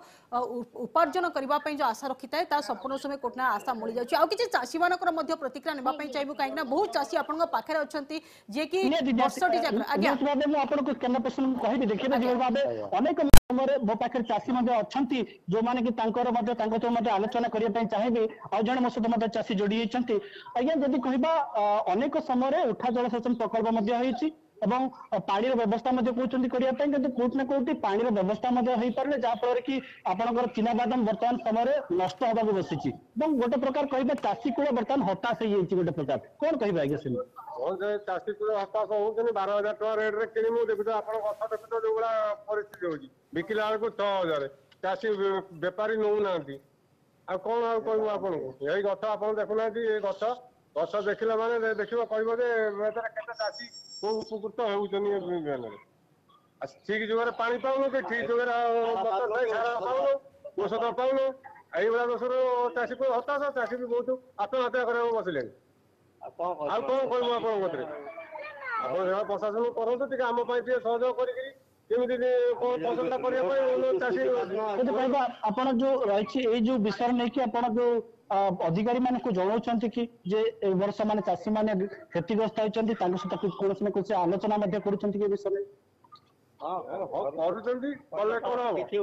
ଉପାର୍ଜନ କରିବା ପାଇଁ ଯୋଉ ଆଶା ରଖିଥାଏ ତା ସମ୍ପୂର୍ଣ୍ଣ ସମୟ କୋଉଠି ନା ଆଶା ମିଳିଯାଉଛି। ଆଉ କିଛି ଚାଷୀମାନଙ୍କର ମଧ୍ୟ ପ୍ରତିକ୍ରିୟା ନେବା ପାଇଁ ଚାହିଁବୁ, କାହିଁକି ନା ବହୁତ ଚାଷୀ ଆପଣଙ୍କ ପାଖରେ ଅଛନ୍ତି ଯିଏକି ବର୍ଷଟି ଯାକର। ଆଜ୍ଞା, ମୁଁ ଆପଣଙ୍କୁ କେନ୍ଦ୍ର ପ୍ରଶ୍ନ କହିବି, ଦେଖିବେ ଯେଭଳି ଭାବେ ଅନେକ ସମୟରେ ମୋ ପାଖରେ ଚାଷୀ ମଧ୍ୟ ଅଛନ୍ତି, ଯୋଉମାନେ କି ତାଙ୍କର ମଧ୍ୟ ତାଙ୍କ ସହ ମଧ୍ୟ ଆଲୋଚନା କରିବା ପାଇଁ ଚାହିଁବି। ଆଉ ଜଣେ ମୋ ସହିତ ମଧ୍ୟ ଚାଷୀ ଯୋଡି ହେଇଛନ୍ତି। ଆଜ୍ଞା, ଯଦି କହିବା ଅନେକ ସମୟରେ ଉଠା ଜଳସେଚନ ପ୍ରକଳ୍ପ ମଧ୍ୟ ହେଇଛି ଏବଂ ପାଣିର ବ୍ୟବସ୍ଥା ମଧ୍ୟ କହୁଛନ୍ତି କରିବା ପାଇଁ, କିନ୍ତୁ କୋଉଠି ନା କୋଉଠି ପାଣିର ବ୍ୟବସ୍ଥା ମଧ୍ୟ ହେଇପାରୁନି, ଯାହା ଫଳରେ କି ଆପଣଙ୍କର ଚିନାବାଦାମ ବର୍ତ୍ତମାନ ସମୟରେ ନଷ୍ଟ ହବାକୁ ବସିଛି ଏବଂ ଗୋଟେ ପ୍ରକାର କହିବା ଚାଷୀ କୂଳ ବର୍ତ୍ତମାନ ହତାଶ ହେଇଯାଇଛି ଗୋଟେ ପ୍ରକାର। କଣ କହିବେ ଆଜ୍ଞା? ସେମିତି ହଁ, ସେ ଚାଷୀ କୂଳ ହତାଶ ହଉଛନ୍ତି। 12,000 ଟଙ୍କା ରେଟ୍ ରେ କିଣିବୁ, ଦେଖୁଛ ଆପଣ ଗଛ ଦେଖୁଛ ଯୋଉ ଭଳିଆ ପରିସ୍ଥିତି ହଉଛି, ବିକିଲା ବେଳକୁ 6,000, ଚାଷୀ ବେପାରୀ ନଉନାହାନ୍ତି। ଆଉ କଣ ଆଉ କହିବୁ ଆପଣଙ୍କୁ? ଏଇ ଗଛ ଆପଣ ଦେଖୁନାହାନ୍ତି, ଏ ଗଛ ଗଛ ଦେଖିଲା ମାନେ ଦେଖିବ କହିବ ଯେ ଏଥିରେ କେତେ ଚାଷୀ କୋଉ ଉପକୃତ ହେଉଛନ୍ତି ଏ ବିହନରେ। ଠିକ ଯୁଗରେ ପାଣି ପାଉନୁ କି ଠିକ ଯୁଗରେ ସାର ପାଉନୁ, ଔଷଧ ପାଉନୁ। ଏଇଭଳିଆ ଦୋଷରୁ ଚାଷୀ ହତାଶ, ଚାଷୀ ବି ବହୁତ ଆତ୍ମହତ୍ୟା କରିବାକୁ ବସିଲେଣି। ଆଉ କଣ କହିବୁ ଆପଣଙ୍କ କତିରେ? ଆପଣ ସେବା ପ୍ରଶାସନ କରନ୍ତୁ ଟିକେ, ଆମ ପାଇଁ ଟିକେ ସହଯୋଗ କରିକିରି କେମିତି ଫସଲଟା କରିବା ପାଇଁ ଚାଷୀ। ଯଦି କହିବା ଆପଣ ଯୋଉ ରହିଛି ଏଇ ଯୋଉ ବିଷୟରେ ନେଇକି ଆପଣ ଯୋଉ ଅଧିକାରୀ ମାନଙ୍କୁ ଜଣାଉଛନ୍ତି କି ଯେ ଏ ବର୍ଷ ମାନେ ଚାଷୀ ମାନେ କ୍ଷତିଗ୍ରସ୍ତ ହେଇଛନ୍ତି, ତାଙ୍କ ସହିତ କୌଣସି ନା କୌଣସି ଆଲୋଚନା ମଧ୍ୟ କରୁଛନ୍ତି କି ଏ ବିଷୟରେ? କରୁଛନ୍ତି, କଲେ କଣ ହବ? କିଛି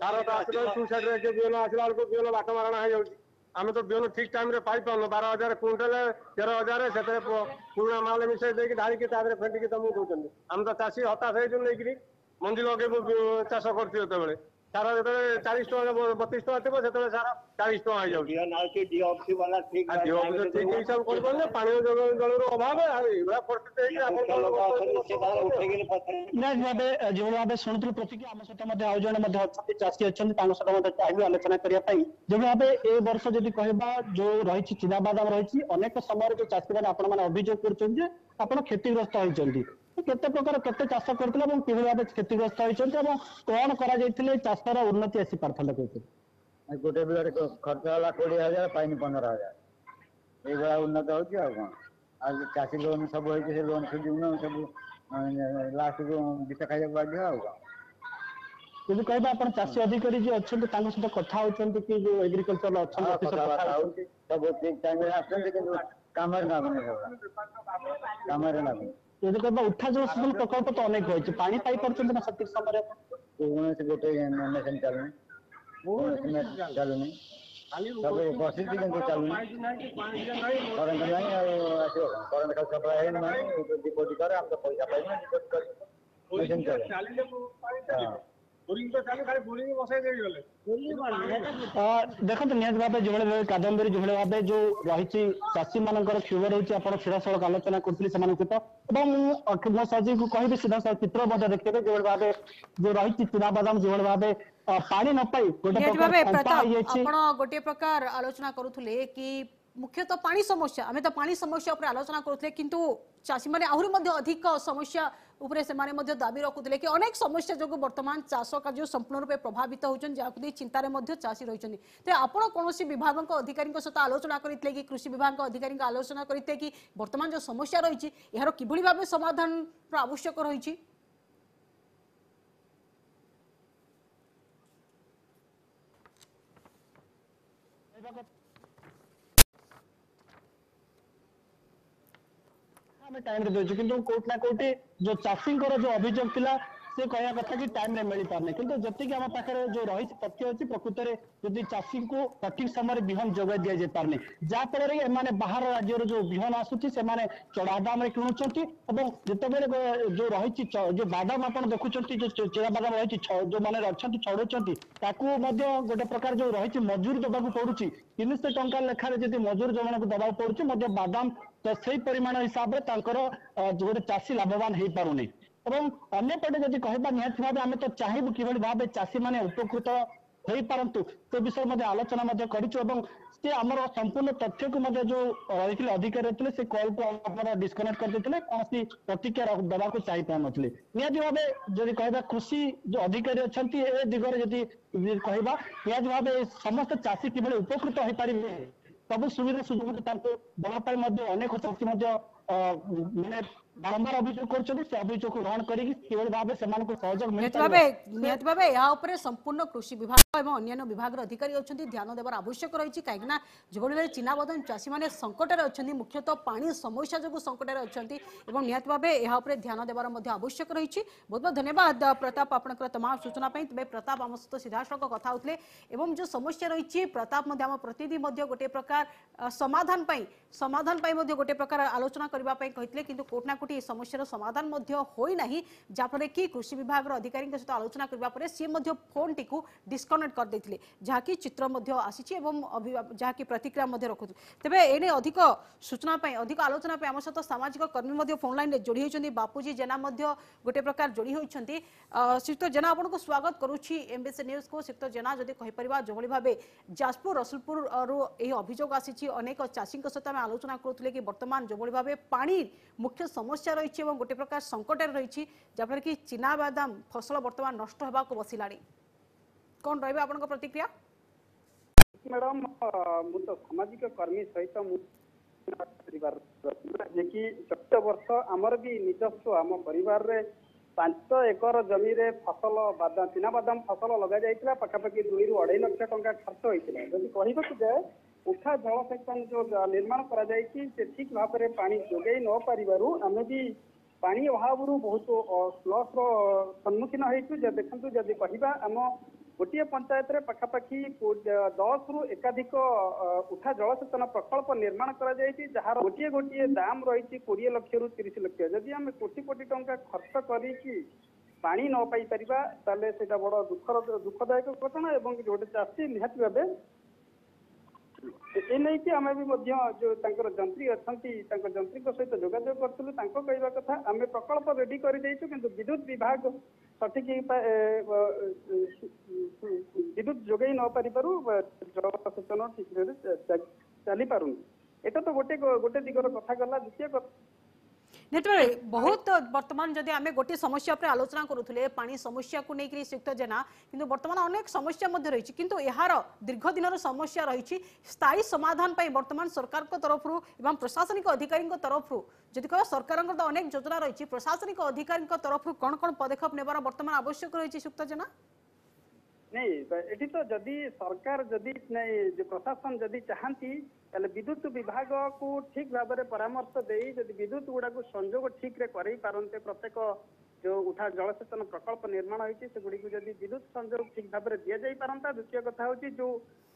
ସାର ତ ଆସିଲା, ସୁସାଇଡରେ ବିହନ ଆସିଲା ବେଳକୁ ବିହନ ବାଟ ମାରଣା ହେଇଯାଉଛି। ଆମେ ତ ବିହନ ଠିକ ଟାଇମରେ ପାଇପାରୁନୁ। 12,000 କୁଇଣ୍ଟାଲ, 13,000, ସେଥିରେ ପୁରୁଣା ମାଲ ମିଶେଇ ଦେଇକି ଢାଳିକି ତା ଦେହରେ ଫେଣ୍ଟିକି ତମକୁ ଦଉଛନ୍ତି। ଆମେ ତ ଚାଷୀ ହତାଶ ହେଇଛୁ। ନେଇକିରି ମଞ୍ଜି ଲଗେଇବୁ, ଚାଷ କରୁଛୁ, ଯେତେବେଳେ ସାର ଯେତେବେଳେ 40 ଟଙ୍କା 32 ଟଙ୍କା ଥିବ, ସେତେବେଳେ ସାର 40 ଟଙ୍କା ହେଇଯାଉଛି। ଠିକ ହିସାବ କରିପାରୁନେ, ପାନୀୟ ଜଳର ଅଭାବ, ଆଉ ଏଇଭଳିଆ ପରିସ୍ଥିତି ହେଇକି ଆପଣ। ନିହାତି ଭାବେ ଯେଭଳି ଭାବେ ଶୁଣୁଥିଲୁ ପ୍ରତିକ୍ରିୟା, ଆମ ସହିତ ମଧ୍ୟ ଆଉ ଜଣେ ମଧ୍ୟ ଅଛନ୍ତି, ଚାଷୀ ଅଛନ୍ତି, ତାଙ୍କ ସହିତ ମଧ୍ୟ ଚାହିଁବି ଆଲୋଚନା କରିବା ପାଇଁ। ଯେଭଳି ଭାବେ ଏ ବର୍ଷ ଯଦି କହିବା ଯୋଉ ରହିଛି ଚିନାବାଦାମ ରହିଛି, ଅନେକ ସମୟରେ ଯୋଉ ଚାଷୀମାନେ ଆପଣମାନେ ଅଭିଯୋଗ କରୁଛନ୍ତି ଯେ ଆପଣ କ୍ଷତିଗ୍ରସ୍ତ ହେଇଛନ୍ତି, କେତେ ପ୍ରକାର କେତେ ଚାଷ କରିଥିଲେ ଏବଂ କିଭଳି ଭାବେ କ୍ଷତିଗ୍ରସ୍ତ ହେଇଛନ୍ତି ଏବଂ କଣ କରାଯାଇଥିଲେ ଚାଷର ଉନ୍ନତି ଆସି ପାରିଥାନ୍ତା କହୁଛନ୍ତି? ଗୋଟେ ବିଲରେ ଖର୍ଚ୍ଚ ହେଲା 20,000, ପାଇନି 15,000। ଏଇଭଳିଆ ଉନ୍ନତ ହଉଛି ଆଉ କଣ। ଆଉ ଚାଷୀ ଲୋନ୍ ସବୁ ହେଇଛି, ସେ ଲୋନ୍ ସୁଝିବୁନୁ, ସବୁ ଲାଷ୍ଟକୁ ବିଷ ଖାଇବାକୁ ବାଧ୍ୟ ଆଉ କଣ। ଯଦି କହିବା ଆପଣ ଚାଷୀ ଅଧିକାରୀ ଯିଏ ଅଛନ୍ତି ତାଙ୍କ ସହିତ କଥା ହଉଛନ୍ତି କି, ଯୋଉ ଏଗ୍ରିକଲଚର ଅଛନ୍ତି ଅଫିସର, କଥା ହଉଛି, ସବୁ ଠିକ ଟାଇମରେ ଆସୁଛନ୍ତି, କିନ୍ତୁ କାମରେ ଲାଗୁନି, କାମରେ ଲାଗୁନି। ଯଦି କହିବା ଉଠା ଜଳସେଚନ ପ୍ରକଳ୍ପ ତ ଅନେକ ରହିଛି, ପାଣି ପାଇପାରୁଛନ୍ତି ନା ସଠିକ ସମୟରେ? କୌଣସି ଗୋଟେ ମେସିନ ଚାଲୁନି, କୌଣସି ଚାଲୁନି, ସବୁ ବସିଛି କିନ୍ତୁ ଚାଲୁନି। କରେଣ୍ଟ ନାହିଁ ଆଉ ଆସିବ କଣ? କରେଣ୍ଟ ଖାଲି ସପ୍ଲାଏ ହେଇନି ନାହିଁ। ଡିପୋଜିଟ୍ କରେ, ଆମେ ତ ପଇସା ପାଇବୁନି, ଡିପୋଜିଟ୍ କରି ମେସିନ ଚାଲେ। ଦେଖନ୍ତୁ, ନିହାତି ଭାବେ ଯେଭଳି ଭାବେ କାଦମ୍ବରୀ, ଯେଭଳି ଭାବେ ଯୋଉ ରହିଛି ଚାଷୀ ମାନଙ୍କର କ୍ଷୋଭ ରହୁଛି, ଆପଣ ସିଧାସଳଖ ଆଲୋଚନା କରୁଥିଲେ ସେମାନଙ୍କ ସହିତ। ଏବଂ ମୁଁ ମୋ ସହଯୋଗୀକୁ କହିବି ସିଧାସଳଖ ଚିତ୍ର ମଧ୍ୟ ଦେଖିବେ, ଯେଭଳି ଭାବେ ଯୋଉ ରହିଛି ଚିନାବାଦାମ ଯେଭଳି ଭାବେ ପାଣି ନ ପାଇ ଗୋଟେ ପ୍ରକାର ଆପଣ ଗୋଟିଏ ପ୍ରକାର ଆଲୋଚନା କରୁଥିଲେ କି ମୁଖ୍ୟତଃ ପାଣି ସମସ୍ୟା। ଆମେ ତ ପାଣି ସମସ୍ୟା ଉପରେ ଆଲୋଚନା କରୁଥିଲେ, କିନ୍ତୁ ଚାଷୀମାନେ ଆହୁରି ମଧ୍ୟ ଅଧିକ ସମସ୍ୟା ଉପରେ ସେମାନେ ମଧ୍ୟ ଦାବି ରଖୁଥିଲେ କି ଅନେକ ସମସ୍ୟା ଯୋଗୁଁ ବର୍ତ୍ତମାନ ଚାଷ କାର୍ଯ୍ୟ ସମ୍ପୂର୍ଣ୍ଣ ରୂପେ ପ୍ରଭାବିତ ହେଉଛନ୍ତି, ଯାହାକୁ ନେଇ ଚିନ୍ତାରେ ମଧ୍ୟ ଚାଷୀ ରହିଛନ୍ତି। ତେବେ ଆପଣ କୌଣସି ବିଭାଗଙ୍କ ଅଧିକାରୀଙ୍କ ସହିତ ଆଲୋଚନା କରିଥିଲେ କି, କୃଷି ବିଭାଗଙ୍କ ଅଧିକାରୀଙ୍କ ଆଲୋଚନା କରିଥିଲେ କି, ବର୍ତ୍ତମାନ ଯେଉଁ ସମସ୍ୟା ରହିଛି ଏହାର କିଭଳି ଭାବେ ସମାଧାନର ଆବଶ୍ୟକ ରହିଛି? ଆମେ ଟାଇମରେ ଦଉଛୁ, କିନ୍ତୁ କୋଉଠି ନା କୋଉଠି ଯୋଉ ଚାଷୀଙ୍କର ଯୋଉ ଅଭିଯୋଗ ଥିଲା, ସେ କହିବା କଥା କି ଟାଇମରେ ମିଳିପାରୁନି। କିନ୍ତୁ ଯେତିକି ଆମ ପାଖରେ ଯୋଉ ରହିଛି ତଥ୍ୟ ଅଛି, ପ୍ରକୃତରେ ଯଦି ଚାଷୀଙ୍କୁ ସଠିକ ସମୟରେ ବିହନ ଯୋଗାଇ ଦିଆଯାଇ ପାରୁନି, ଯାହା ଫଳରେ ଏମାନେ ବାହାର ରାଜ୍ୟରୁ ଯୋଉ ବିହନ ଆସୁଛି ସେମାନେ ଚଢା ଦାମରେ କିଣୁଛନ୍ତି। ଏବଂ ଯେତେବେଳେ ଯୋଉ ରହିଛି ଯୋଉ ବାଦାମ ଆପଣ ଦେଖୁଛନ୍ତି, ଯୋଉ ଚିନା ବାଦାମ ରହିଛି, ଯୋଉମାନେ ଅଛନ୍ତି ଛଡଉଛନ୍ତି, ତାକୁ ମଧ୍ୟ ଗୋଟେ ପ୍ରକାର ଯୋଉ ରହିଛି ମଜୁରୀ ଦେବାକୁ ପଡୁଛି। 300 ଟଙ୍କା ଲେଖାରେ ଯଦି ମଜୁରୀ ଯୋଉମାନଙ୍କୁ ଦେବାକୁ ପଡୁଛି, ମଧ୍ୟ ବାଦାମ ତ ସେଇ ପରିମାଣ ହିସାବରେ ତାଙ୍କର ଗୋଟେ ଚାଷୀ ଲାଭବାନ ହେଇପାରୁନି। ଏବଂ ଅନ୍ୟପଟେ ଯଦି କହିବା, ନିହାତି ଭାବେ ଆମେ ତ ଚାହିଁବୁ କିଭଳି ଭାବେ ଚାଷୀମାନେ ଉପକୃତ ହୋଇପାରନ୍ତୁ, ସେ ବିଷୟରେ ମଧ୍ୟ ଆଲୋଚନା ମଧ୍ୟ କରିଛୁ। ଏବଂ ସେ ଆମର ସମ୍ପୂର୍ଣ୍ଣ ତଥ୍ୟକୁ ମଧ୍ୟ ଯୋଉ ରହିଥିଲେ ଅଧିକାରୀ ରହିଥିଲେ, ସେ କଲକୁ ଆମର ଡିସକନେକ୍ଟ କରିଦେଇଥିଲେ, କୌଣସି ପ୍ରତିକ୍ରିୟା ଦେବାକୁ ଚାହିଁ ପାରୁନଥିଲେ। ନିହାତି ଭାବେ ଯଦି କହିବା କୃଷି ଯୋଉ ଅଧିକାରୀ ଅଛନ୍ତି, ଏ ଦିଗରେ ଯଦି କହିବା, ନିହାତି ଭାବେ ସମସ୍ତ ଚାଷୀ କିଭଳି ଉପକୃତ ହେଇପାରିବେ, ସବୁ ସୁବିଧା ସୁଯୋଗ ତାଙ୍କୁ ଦେବା ପାଇଁ ମଧ୍ୟ ଅନେକ ଚାଷୀ ମଧ୍ୟ ମାନେ ବାରମ୍ବାର ଅଭିଯୋଗ କରୁଛନ୍ତି। ସେ ଅଭିଯୋଗକୁ ଗ୍ରହଣ କରିକି କିଭଳି ଭାବେ ସେମାନଙ୍କୁ ସହଯୋଗ ମିଳିପାରିବ, ନିହାତି ଭାବେ ଏହା ଉପରେ ସମ୍ପୂର୍ଣ୍ଣ କୃଷି ବିଭାଗ ଏବଂ ଅନ୍ୟାନ୍ୟ ବିଭାଗର ଅଧିକାରୀ ଅଛନ୍ତି, ଧ୍ୟାନ ଦେବାର ଆବଶ୍ୟକ ରହିଛି। କାହିଁକିନା ଯେଭଳି ଭାବେ ଚିନାବାଦାମ ଚାଷୀମାନେ ସଙ୍କଟରେ ଅଛନ୍ତି, ମୁଖ୍ୟତଃ ପାଣି ସମସ୍ୟା ଯୋଗୁଁ ସଙ୍କଟରେ ଅଛନ୍ତି, ଏବଂ ନିହାତି ଭାବେ ଏହା ଉପରେ ଧ୍ୟାନ ଦେବାର ମଧ୍ୟ ଆବଶ୍ୟକ ରହିଛି। ବହୁତ ବହୁତ ଧନ୍ୟବାଦ ପ୍ରତାପ ଆପଣଙ୍କର ତମାମ ସୂଚନା ପାଇଁ। ତେବେ ପ୍ରତାପ ଆମ ସହିତ ସିଧାସଳଖ କଥା ହେଉଥିଲେ ଏବଂ ଯେଉଁ ସମସ୍ୟା ରହିଛି, ପ୍ରତାପ ମଧ୍ୟ ଆମ ପ୍ରତିନିଧି ମଧ୍ୟ ଗୋଟିଏ ପ୍ରକାର ସମାଧାନ ପାଇଁ ମଧ୍ୟ ଗୋଟିଏ ପ୍ରକାର ଆଲୋଚନା କରିବା ପାଇଁ କହିଥିଲେ, କିନ୍ତୁ କୋଉଠି ନା କୋଉଠି ଏ ସମସ୍ୟାର ସମାଧାନ ମଧ୍ୟ ହୋଇନାହିଁ, ଯାହାଫଳରେ କି କୃଷି ବିଭାଗର ଅଧିକାରୀଙ୍କ ସହିତ ଆଲୋଚନା କରିବା ପରେ ସିଏ ମଧ୍ୟ ଫୋନ୍ଟିକୁ ଡିସ୍କନେକ୍ଟ କରିଦେଇଥିଲେ, ଯାହାକି ଚିତ୍ର ମଧ୍ୟ ଆସିଛି ଏବଂ ଯାହାକି ପ୍ରତିକ୍ରିୟା ମଧ୍ୟ ରଖୁଥିଲେ। ତେବେ ଏନେ ଅଧିକ ସୂଚନା ପାଇଁ, ଅଧିକ ଆଲୋଚନା ପାଇଁ ଆମ ସହିତ ସାମାଜିକ କର୍ମୀ ମଧ୍ୟ ଫୋନ୍ ଲାଇନ୍ରେ ଯୋଡ଼ି ହୋଇଛନ୍ତି, ବାପୁଜୀ ଜେନା ମଧ୍ୟ ଗୋଟେ ପ୍ରକାର ଯୋଡ଼ି ହୋଇଛନ୍ତି। ଶ୍ରୀଯୁକ୍ତ ଜେନା, ଆପଣଙ୍କୁ ସ୍ୱାଗତ କରୁଛି ଏମ୍ବିସି ନ୍ୟୁଜ୍କୁ। ଶ୍ରୀଯୁକ୍ତ ଜେନା, ଯଦି କହିପାରିବା, ଯେଭଳି ଭାବେ ଯାଜପୁର ରସୁଲପୁରରୁ ଏହି ଅଭିଯୋଗ ଆସିଛି, ଅନେକ ଚାଷୀଙ୍କ ସହିତ ଆମେ ଆଲୋଚନା କରୁଥିଲେ କି ବର୍ତ୍ତମାନ ଯେଭଳି ଭାବେ ପାଣି ମୁଖ୍ୟ ସମସ୍ୟା ରହିଛି ଏବଂ ଗୋଟେ ପ୍ରକାର ସଙ୍କଟରେ ରହିଛି, ଯାହାଫଳରେ କି ଚିନାବାଦାମ ଫସଲ ବର୍ତ୍ତମାନ ନଷ୍ଟ ହେବାକୁ ବସିଲାଣି, କ'ଣ ରହିବ ଆପଣଙ୍କ ପ୍ରତିକ୍ରିୟା? ମ୍ୟାଡ଼ାମ, ମୁଁ ତ ସାମାଜିକ କର୍ମୀ ସହିତ ମୁଁ ପରିବାର ଯିଏକି ଚଳିତ ବର୍ଷ ଆମର ବି ନିଜସ୍ୱ ଆମ ପରିବାରରେ 5 ଏକର ଜମିରେ ଫସଲ ବାଦାମ, ଚିନାବାଦାମ ଫସଲ ଲଗାଯାଇଥିଲା। ପାଖାପାଖି 2ରୁ 2.5 ଲକ୍ଷ ଟଙ୍କା ଖର୍ଚ୍ଚ ହୋଇଥିଲା। ଯଦି କହିବାକୁ ଯାଏ, ଉଠା ଜଳସେଚନ ଯୋଉ ନିର୍ମାଣ କରାଯାଇଛି ସେ ଠିକ ଭାବରେ ପାଣି ଯୋଗାଇ ନ ପାରିବାରୁ ଆମେ ବି ପାଣି ଅଭାବରୁ ବହୁତ ଲସ୍ର ସମ୍ମୁଖୀନ ହେଇଛୁ। ଯେ ଦେଖନ୍ତୁ, ଯଦି କହିବା ଆମ ଗୋଟିଏ ପଞ୍ଚାୟତରେ ପାଖାପାଖି 10ରୁ ଏକାଧିକ ଉଠା ଜଳସେଚନ ପ୍ରକଳ୍ପ ନିର୍ମାଣ କରାଯାଇଛି, ଯାହାର ଗୋଟିଏ ଗୋଟିଏ ଦାମ ରହିଛି 20 ଲକ୍ଷରୁ 30 ଲକ୍ଷ। ଯଦି ଆମେ କୋଟି କୋଟି ଟଙ୍କା ଖର୍ଚ୍ଚ କରିକି ପାଣି ନ ପାଇପାରିବା, ତାହେଲେ ସେଇଟା ବଡ ଦୁଃଖର ଦୁଃଖଦାୟକ ଘଟଣା। ଏବଂ ଗୋଟେ ଚାଷୀ ନିହାତି ଭାବେ ଏ ନେଇକି ଆମେ ବି ମଧ୍ୟ ଯୋଉ ତାଙ୍କର ଯନ୍ତ୍ରୀ ଅଛନ୍ତି, ତାଙ୍କ ଯନ୍ତ୍ରୀଙ୍କ ସହିତ ଯୋଗାଯୋଗ କରିଥିଲୁ। ତାଙ୍କ କହିବା କଥା, ଆମେ ପ୍ରକଳ୍ପ ରେଡି କରିଦେଇଛୁ, କିନ୍ତୁ ବିଦ୍ୟୁତ ବିଭାଗ ସଠିକ ବିଦ୍ୟୁତ ଯୋଗାଇ ନ ପାରିବାରୁ ଜଳସେଚନ ଠିକରେ ଚାଲିପାରୁନି। ଏଇଟା ତ ଗୋଟେ ଗୋଟେ ଦିଗର କଥା ଗଲା। ଦ୍ୱିତୀୟ କଥା निहाती बहुत वर्तमान जदि आम गोटे समस्या पर आलोचना करुले पानी समस्या को लेकर श्रीयुक्त जेना किंतु वर्तमान अनेक समस्या रही किंतु यार दीर्घ दिन समस्या रही स्थायी समाधान पर वर्तमान सरकार तरफ एवं प्रशासनिक अधिकारी तरफ जदि कह सरकार तो अनेक योजना रही प्रशासनिक अधिकारी तरफ कौन कौन पदक्षेप नेबार वर्तमान आवश्यक रही श्रीयुक्त जेना। नहीं एठी तो जदि सरकार जदि नहीं प्रशासन जदि चाहती ताले विद्युत विभाग को ठीक भाव में परामर्श देई जदि विद्युत गुड़ा को संयोग ठीक रे करई पारन्ते प्रत्येक जो उठा जलसेचन प्रकल्प निर्माण होइछि से गुड़ी को जदि विद्युत संयोग ठीक भाव में दिया जाई पारंता। द्वितीय कथा होची जो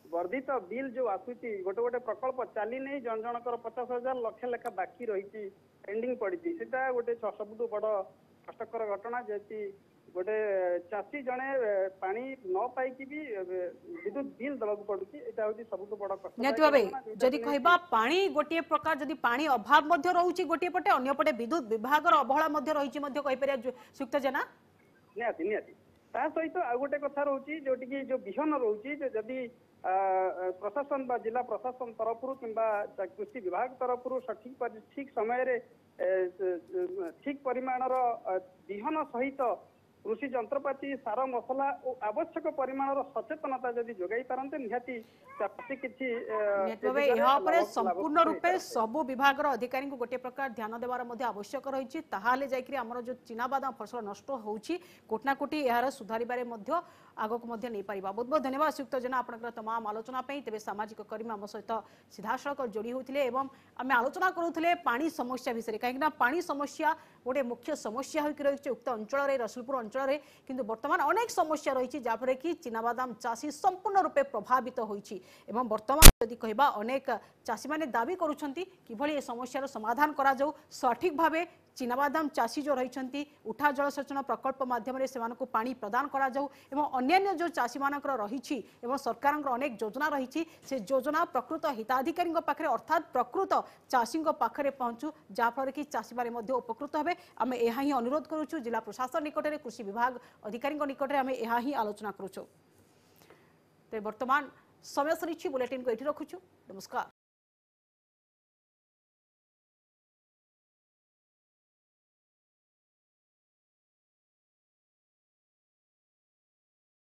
वर्धित बिल जो आसुची गोटे गोटे प्रकल्प चाली नहीं जन जनकर 50,000 लक्ष लेखा बाकी रही पेंडिंग पड़ी सेटा गोटे सबुठू बड़ कष्टकर घटना जेति गोटे चाषी जड़े पानी न पाइकी भी विद्युत बिल दबाक पड़ुଛି एटा होची सबुठू बड़ कष्ट। निहाती भावे जदि कहबा पानी गोटे प्रकार जदि पानी अभाव मध्य रहउछि गोटे पटे अन्य पटे विद्युत विभागर अवहेला मध्य रहिछि मध्य कहि परिया श्रीयुक्त जेना। निहाती निहाती ता सहित आ गोटे कथा रहउछि जोटी कि जो बिहन रहउछि जे जदि प्रशासन बा जिला प्रशासन तरफରୁ किंबा कृषि विभाग तरफରୁ सठिक ठीक समय रे ठीक परिमाणर बिहन सहित कृषि यंत्रपाती सार मसला और आवश्यक परिमाण सचेतनता जदि जोगाई पारन्ते निहाती चाषी किछि यह संपूर्ण रूपे सबु विभागर अधिकारी को गोटे प्रकार ध्यान देवार मध्य आवश्यक रही ताहले जाकि आमर जो चिनाबादाम फसल नष्ट होउछि कोटी ना कोटी यार सुधारिबारे मध्य आगକୁ ମଧ୍ୟ ନେଇପାରିବା। ବହୁତ ବହୁତ ଧନ୍ୟବାଦ ଶ୍ରୀଯୁକ୍ତ ଜେନା ଆପଣଙ୍କର ତମାମ ଆଲୋଚନା ପାଇଁ। ତେବେ ସାମାଜିକ କର୍ମୀ ଆମ ସହିତ ସିଧାସଳଖ ଯୋଡ଼ି ହେଉଥିଲେ ଏବଂ ଆମେ ଆଲୋଚନା କରୁଥିଲେ ପାଣି ସମସ୍ୟା ବିଷୟରେ, କାହିଁକିନା ପାଣି ସମସ୍ୟା ଗୋଟେ ମୁଖ୍ୟ ସମସ୍ୟା ହୋଇକି ରହିଛି ଉକ୍ତ ଅଞ୍ଚଳରେ ରସୁଲପୁର ଅଞ୍ଚଳରେ, କିନ୍ତୁ ବର୍ତ୍ତମାନ ଅନେକ ସମସ୍ୟା ରହିଛି ଯାହାଫଳରେ କି ଚିନାବାଦାମ ଚାଷୀ ସମ୍ପୂର୍ଣ୍ଣ ରୂପେ ପ୍ରଭାବିତ ହୋଇଛି ଏବଂ ବର୍ତ୍ତମାନ ଯଦି କହିବା ଅନେକ ଚାଷୀମାନେ ଦାବି କରୁଛନ୍ତି କିଭଳି ଏ ସମସ୍ୟାର ସମାଧାନ କରାଯାଉ, ସଠିକ ଭାବେ ଚିନାବାଦାମ ଚାଷୀ ଯେଉଁ ରହିଛନ୍ତି ଉଠା ଜଳସେଚନ ପ୍ରକଳ୍ପ ମାଧ୍ୟମରେ ସେମାନଙ୍କୁ ପାଣି ପ୍ରଦାନ କରାଯାଉ ଏବଂ ଅନ୍ୟାନ୍ୟ ଯେଉଁ ଚାଷୀମାନଙ୍କର ରହିଛି ଏବଂ ସରକାରଙ୍କର ଅନେକ ଯୋଜନା ରହିଛି ସେ ଯୋଜନା ପ୍ରକୃତ ହିତାଧିକାରୀଙ୍କ ପାଖରେ ଅର୍ଥାତ୍ ପ୍ରକୃତ ଚାଷୀଙ୍କ ପାଖରେ ପହଞ୍ଚୁ, ଯାହାଫଳରେ କି ଚାଷୀମାନେ ମଧ୍ୟ ଉପକୃତ ହେବେ। ଆମେ ଏହା ହିଁ ଅନୁରୋଧ କରୁଛୁ ଜିଲ୍ଲା ପ୍ରଶାସନ ନିକଟରେ, କୃଷି ବିଭାଗ ଅଧିକାରୀଙ୍କ ନିକଟରେ ଆମେ ଏହା ହିଁ ଆଲୋଚନା କରୁଛୁ। ତେବେ ବର୍ତ୍ତମାନ ସମୟ ସରିଛି, ବୁଲେଟିନ୍କୁ ଏଇଠି ରଖୁଛୁ। ନମସ୍କାର।